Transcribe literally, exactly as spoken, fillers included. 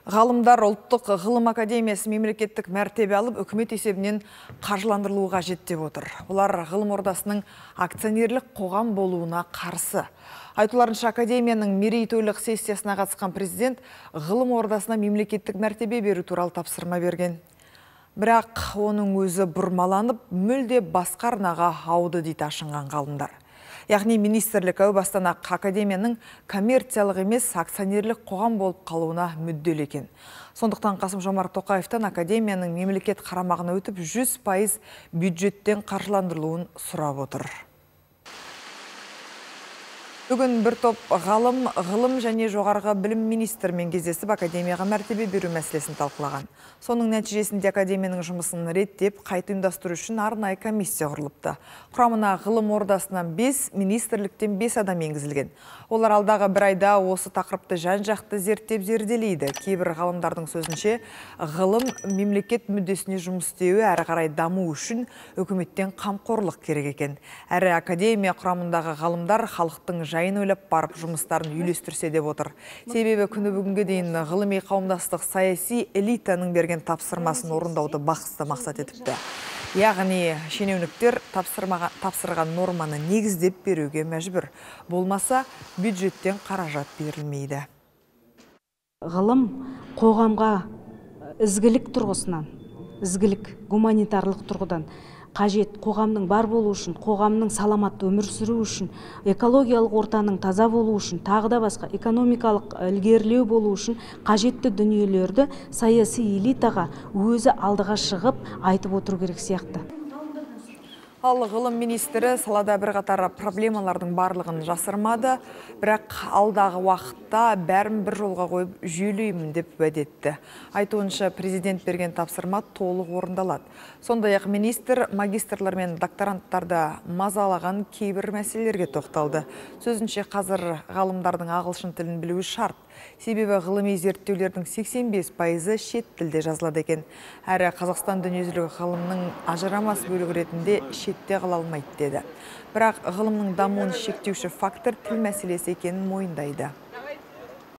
Ғалымдар ұлттық ғылым академиясы мемлекеттік мәртебе алып, үкімет есебінен қаржыландырылуы қажет деп отыр. Олар ғылым ордасының акционерлік қоғам болуына қарсы. Айтуларынша, академияның мерейтойлық сессиясына қатысқан президент ғылым ордасына мемлекеттік мәртебе беру туралы тапсырма берген. Бірақ оның өзі бұрмаланып, мүлде басқа арнаға ауды дейді ашынған ғалымдар. Яғни министрлік әу бастан-ақ академияның коммерциялық емес акционерлік қоғам болып қалуына мүдделі екен. Сондықтан Қасым-Жомарт Тоқаевтан академияның мемлекет қарамағына өтіп жүз пайыз бюджеттен қаржыландырылуын сұрап отыр. Бүгін бір топ ғалым, ғылым және жоғарғы білім министрімен кездесіп академияға мәртебе беру мәселесін талқылаған. Соның нәтижесінде академияның жұмысын реттеп, қайта ұйымдастыру үшін арнайы комиссия құрылыпты. Құрамына ғылым ордасынан бес, министрліктен бес адам енгізілген. Олар алдағы бір айда осы тақырыпты жан-жақты зерттеп зерделейді. Кейбір ғалымдардың сөзінше, ғылым мемлекет мүддесіне жұмыс істеуі әрі қарай даму үшін үкіметтен қамқорлық керек екен. Әрі академия құрамындағы ғалымдар халықтың жайын ойлап барып жұмыстарын үйлестірсе деп отыр. Себебі күні бүгінге дейін ғылыми қауымдастық саяси элитаның берген тапсырмасын орындауды басты мақсат етіпті. Яғни шенеуніктер тапсырған норманы негіздеп беруге мәжбүр. Болмаса бюджеттен қаражат берілмейді. Ғылым қоғамға ізгілік тұрғысынан, ізгілік гуманитарлық тұрғыдан қажет, қоғамның бар болу үшін, қоғамның саламатты өмір сүру үшін, экологиялық ортаның таза болу үшін, тағы да басқа экономикалық ілгерілеу болу үшін қажетті дүниелерді саяси элитаға өзі алдыға шығып айтып отыру керек сияқты. Ал ғылым министрі салада бірқатар проблемалардың барлығын жасырмады, бірақ алдағы уақытта бәрін бір жолға қойып жүйелеймін деп уәде етті. Айтуынша президент берген тапсырма толық орындалады. Сондай-ақ министр магистрлар мен докторанттарды мазалаған кейбір мәселелерге тоқталды. Сөзінше қазір ғалымдардың ағылшын тілін білуі шарт. Себебі ғылыми зерттеулердің сексен бес пайызы шет тілде жазылады екен. Әрі Қазақстан дүниежүзілік ғылымның ажырамас бөлігі ретінде шетте қала алмайды деді. Бірақ ғылымның дамуын шектеуші фактор тіл мәселесі екенін мойындайды.